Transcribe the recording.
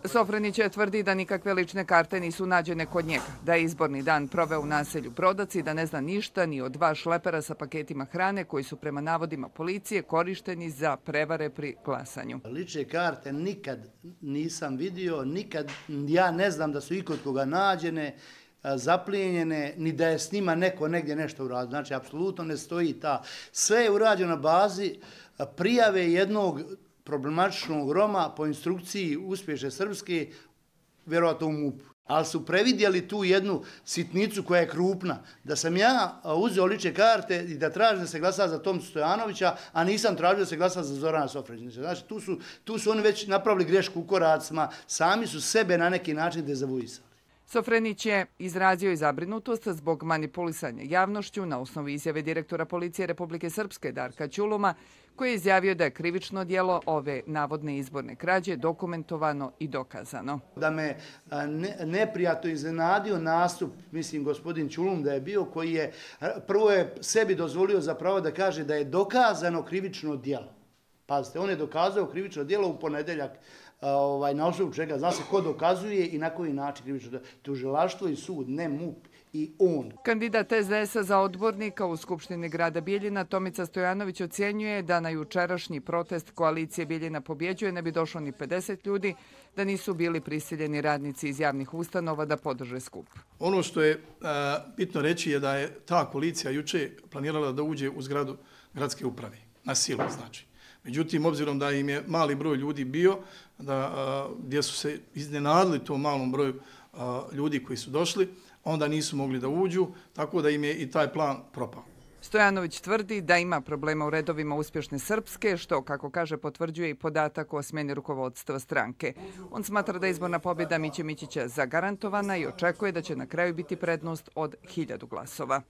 Sofronić tvrdi da nikakve lične karte nisu nađene kod njega, da je izborni dan proveo u naselju Brodac i da ne zna ništa ni od 2 šlepera sa paketima hrane koji su prema navodima policije korišteni za prevare pri glasanju. Lične karte nikad nisam vidio, nikad ja ne znam da su ikod koga nađene, zaplijenjene, ni da je s njima neko negdje nešto uradio. Znači, apsolutno ne stoji ta. Sve je urađeno na bazi prijave jednog problematičnog Roma po instrukciji uspješne Srpske, vjerovatno u MUP. Ali su previdjeli tu jednu sitnicu koja je krupna. Da sam ja uzeo lične karte i da tražim da se glasa za Tomcu Stojanovića, a nisam tražio da se glasa za Zorana Sofronića. Znači, tu su oni već napravili grešku u koracima, sami su sebe na neki način dezavuisali. Sofronić je izrazio i zabrinutost zbog manipulisanja javnošću na osnovu izjave direktora policije Republike Srpske Darka Ćuluma, koji je izjavio da je krivično djelo ove navodne izborne krađe dokumentovano i dokazano. Da me neprijatno iznenadio nastup, mislim, gospodin Ćulum da je bio, koji je prvo je sebi dozvolio zapravo da kaže da je dokazano krivično djelo. Pazite, on je dokazao krivično djelo u ponedjeljak, na osnovu čega zna se ko dokazuje i na koji način krivično djelo. Tužilaštvo i sud, ne MUP i on. Kandidat SDS-a za odbornika u Skupštini grada Bijeljina Tomica Stojanović ocjenjuje da na jučerašnji protest koalicije Bijeljina pobjeđuje ne bi došlo ni 50 ljudi, da nisu bili prisiljeni radnici iz javnih ustanova da podrže skup. Ono što je bitno reći je da je ta koalicija juče planirala da uđe u zgradu gradske uprave, na silu znači. Međutim, obzirom da im je mali broj ljudi bio, gdje su se iznenadili tom malom broju ljudi koji su došli, onda nisu mogli da uđu, tako da im je i taj plan propao. Stojanović tvrdi da ima problema u redovima uspješne Srpske, što, kako kaže, potvrđuje i podatak o smjeni rukovodstva stranke. On smatra da je izborna pobjeda Miće Mićića zagarantovana i očekuje da će na kraju biti prednost od 1000 glasova.